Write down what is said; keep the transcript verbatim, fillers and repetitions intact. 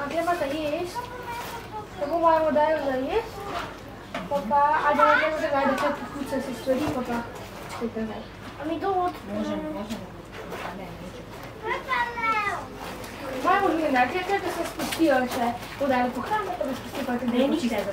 A treba za jest. To bo mamo dajo za jest. Pa pa, a da ne vem, zakaj, da če pokuca se stvari, pa pa čekaj zdaj. A mi to od... Možemo, možemo. Ne, neče. Mamo že ne, da se spustijo še, to da je po hranu, pa da spustijo pa tudi. Ne, nič ne.